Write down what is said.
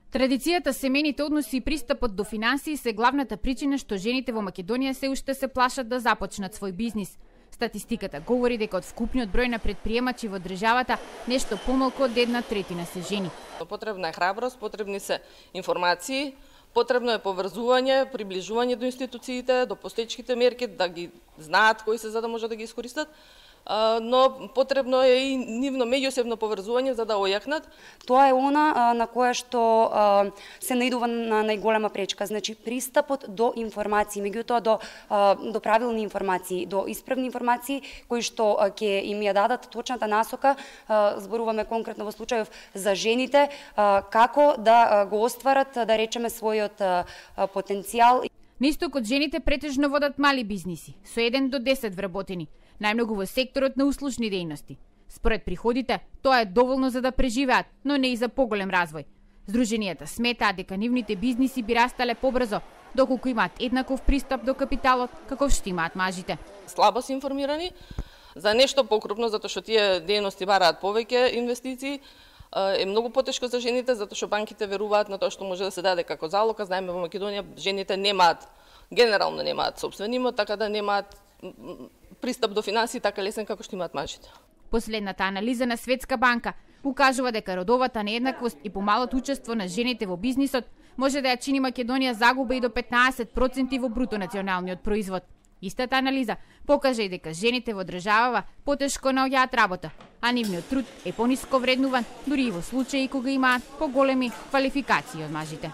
Традицијата, семејните односи и пристапот до финансии се главната причина што жените во Македонија се уште се плашат да започнат свој бизнис. Статистиката говори дека од вкупниот број на претприемачи во државата нешто помалку од 1/3 се жени. Потребна е храброст, потребни се информации, потребно е поврзување, приближување до институциите, до постоечките мерки, да ги знаат кои се за да може да ги искористат, но потребно е и нивно меѓусебно поврзување за да ојакнат. Тоа е она на кое што се наидува на најголема пречка, значи пристапот до информации, меѓутоа до правилни информации, до исправни информации кои што ќе им ја дадат точната насока, зборуваме конкретно во случајов за жените, како да го остварат, да речеме, својот потенцијал. На истокот жените претежно водат мали бизниси, со 1 до 10 вработени, најмногу во секторот на услужни дејности. Според приходите, тоа е доволно за да преживеат, но не и за поголем развој. Здруженијата сметаат дека нивните бизниси би растале побрзо, доколку имаат еднаков пристап до капиталот каков што имаат мажите. Слабо се информирани за нешто покрупно, затоа што тие дејности бараат повеќе инвестиции, е многу потешко за жените, затоа што банките веруваат на тоа што може да се даде како залог. Знаеме во Македонија жените генерално немаат сопствен имот, така да немаат пристап до финансии така лесен како што имаат мажите. Последната анализа на Светска банка укажува дека родовата нееднаквост и помалото учество на жените во бизнисот може да ја чини Македонија загуба и до 15% во бруто националниот производ. Истата анализа покажа и дека жените во државава потешко наоѓаат работа, а нивниот труд е пониско вреднуван, дури и во случаи кога имаат поголеми квалификации од мажите.